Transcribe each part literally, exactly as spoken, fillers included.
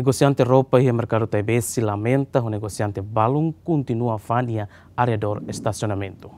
Negosiante roupa iha merkadu Taibesi lamenta ho negosiante balun kontinua fa'an iha arredór estasionamentu.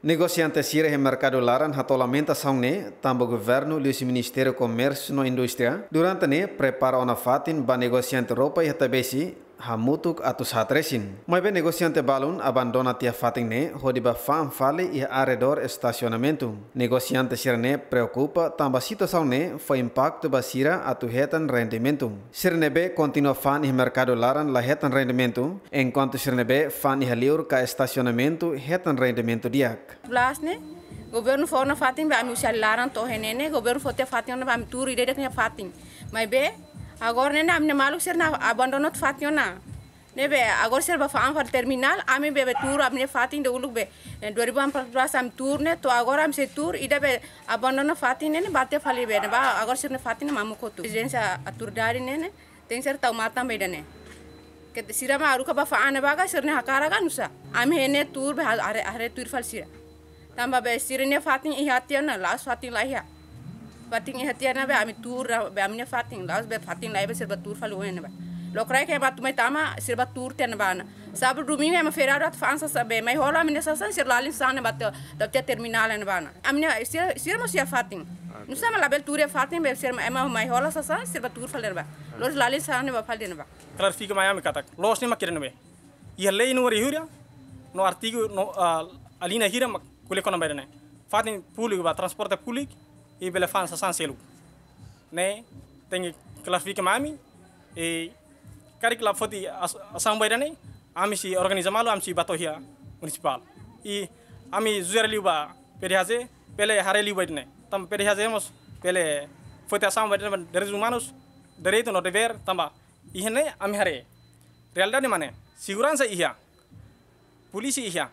Negosiante sira iha merkadu laran hato'o lamentasaun ne'e tanba governu liuhusi Ministériu Komérsiu no Indústria durante ne'e prepara ona fatin ba negosiante roupa iha Taibesi hamutuk atu sa'e resin. Maibé negosiante balun abandona tiha fatin ne'e hodi bá fa'an fali iha arredór estasionamentu. Negosiante sira-ne'e preokupa tanba situasaun ne'e fó impaktu ba sira atu hetan rendimentu. Sira ne'ebé kontinua fa'an iha merkadu laran la hetan rendimentu, enkuantu sira ne'ebé fa'an iha liur ka estasionamentu hetan rendimentu di'ak. Plus ne'e, governu fó ona fatin ba ami husi laran to'o iha ne'e ne'e, governu fó tiha fatin ona ba ami tuur ida-idak nia fatin. Maibé, agora ne'e ne'e ami-nia maluk sira-ne'e abandona tiha fatin ona. Ne'ebé, agora sira bá fa'an fali terminál, ami be, be tuur ami-nia fatin de uluk be. Eh, dua ribu empat belas ami tuur ne'e, to'o agora ami sei tuur, ida be abandona fatin ne'e ne'e bá tiha fali be, ne'ebá, agora sira-nia fatin ne'e mamuk hotu. Ezijénsia autoridade ne'e ne'e, tenke ser tau matan be ida-ne'e. Ke sira mak haruka bá fa'an ne'ebá ka sira-nia hakarak ka nusá. Ami iha ne'e tuur be ha-, haree, haree tuir fali sira. Tanba be sira-nia fatin iha tiha ona, la'ós fatin la iha. Fatin iha tiha ona be ami tuur, be ami-nia fatin, la'ós be fatin la iha be sira bá tuur fali oin ne'ebá. Lokraik ema atu mai tama, sira bá tuur tiha ne'ebá ona. Sábadu, domingu ema feriadu atu fa'an sasán be, mai hola ami-nia sasán, sira lalin sasán ne'ebá tiha, tiha terminál ne'ebá ona. Ami-nia, sira, sira mós iha fatin. Nusá mak labele tuur iha fatin be, sira ema mai hola sasán, sira bá tuur fali ne'ebá. Loos lalin sasán ne'ebá fali ne'ebá. Klarifika mai ami katak, loos ne'e mak ida-ne'ebé. Iha lei númeru hira, no artigu, no, ah, alínea hira mak ko'alia kona ba ida-ne'e. Fatin públiku ba transporte públiku, i bele fa'an sasán seluk. Ne'e, tenke klarifika mai ami, i karik la foti as-, asaun ba ida-ne'e, ami sei organiza malu, ami sei bá to'o iha munisipál. I ami sujere liu ba P D H J, bele haree liu ba ida-ne'e. Tanba P D H J mós, bele foti asaun ba ida-ne'e ba direitus umanus, direitu no devér, tanba iha ne'e ami haree. Realidade mak ne'e, seguransa iha, polísia iha,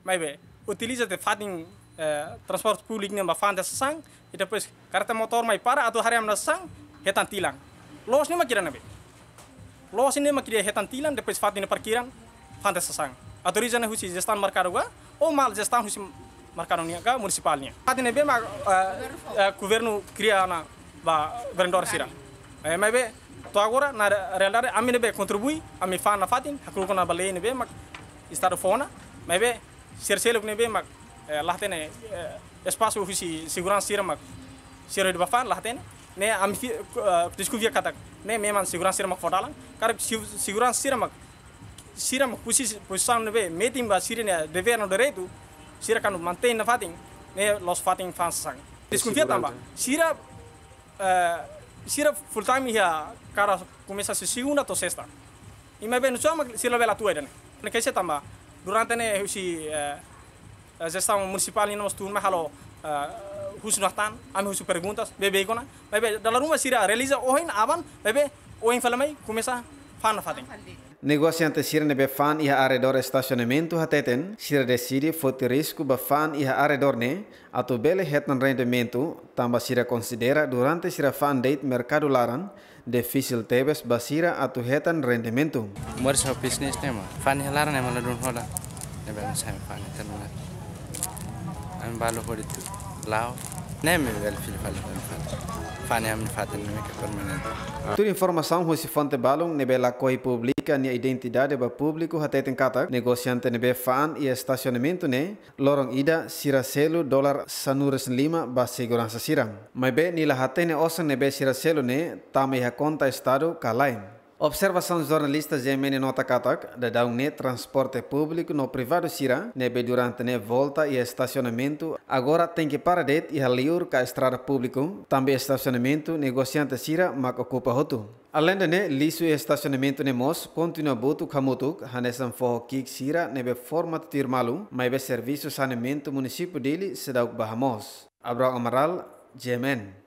maibé utiliza tiha fatin, eh, transporte públiku ne'e bá fa'an tiha sasán, i depois karreta motór mai para atu haree ami-nia sasán, hetan tilan. Loos ne'e mak ida-ne'ebé. Loos ne'e mak ida hetan tilan, depois fatin ne'e parkiran, fa'an tiha sasán. Autoriza ne'e husi jestaun merkadu ka, ou mal jestaun husi merkadu nian ka munisipál nian. Fatin ne'ebé mak, eh, eh, governu kria ona ba vendedór sira. Eh, maibé, to'o agora, na re-, realidade, ami ne'ebé kontribui, ami fa'an nafatin, hakru'uk ona ba lei ne'ebé mak estadu fó ona, maibé, sira seluk ne'ebé mak, eh, la hatene, eh, espasu husi seguransa sira mak, sira hodi bá fa'an, la hatene, ne'e ami fi-, eh, deskonfia katak, ne'e memang seguransa sira mak fó dalan, karik se-, seguransa sira mak, sira mak posi-, pozisaun ne'ebé, metin ba sira-nia devér no direitu, sira kuandu mantein nafatin, ne'e loos fatin fa'an sasán. Deskonfia tanba, sira, eh, sira full time iha kada komesa husi segunda to'o sesta. I maibé nusá mak sira labele atu ida-ne'e. Ne'e keixa tanba, durante ne'e husi, eh, eh, jestaun munisipál nian mós tun mai halo, eh, husu nafatin, ami husu perguntas, beibeik ona. Maibé dala ruma sira realiza ohin aban, maibé ohin fali mai komesa fa'an nafatin. Negosiante sira ne'ebé fa'an iha arredór estasionamentu hateten, sira deside foti risku bá fa'an iha arredór ne'e, atu bele hetan rendimentu, tanba sira konsidera durante sira fa'an de'it merkadu laran, difisil tebes ba sira atu hetan rendimentu. Moris ho bisnis ne'e mak, fa'an iha laran ne'e mak ladún hola. Ne'ebé ami sai fa'an iha terminál. Ami balu hodi tuur. La'o. Ne'e ami bele fila fali fa'an. Fa'an iha ami fatin ne'e mak permanente. Tuir informasaun husi fonte balun ne'ebé lakohi publika nia identidade ba públiku hateten katak, negosiante ne'ebé fa'an iha estasionamentu ne'e, loron ida sira selu dolar sanulu-resin-lima ba seguransa sira. Maibé nia la hatene osan ne'ebé sira selu ne'e tama iha konta estadu ka lae. Observasaun jornalista G M N nota katak, daudaun ne'e transporte públiku no privadu sira ne'ebé durante ne'e volta iha estasionamentu, agora tenke para de'it iha liur ka estrada públiku, tanba estasionamentu negosiante sira mak okupa hotu. Aleinde ne'e, lixu iha estasionamentu ne'e mós kontinua butuk hamutuk, hanesan foho ki'ik sira ne'ebé forma tuir malu, maibé servisu saneamentu munisípiu Dili seidauk bá hamoos. Abrão Amaral, G M N.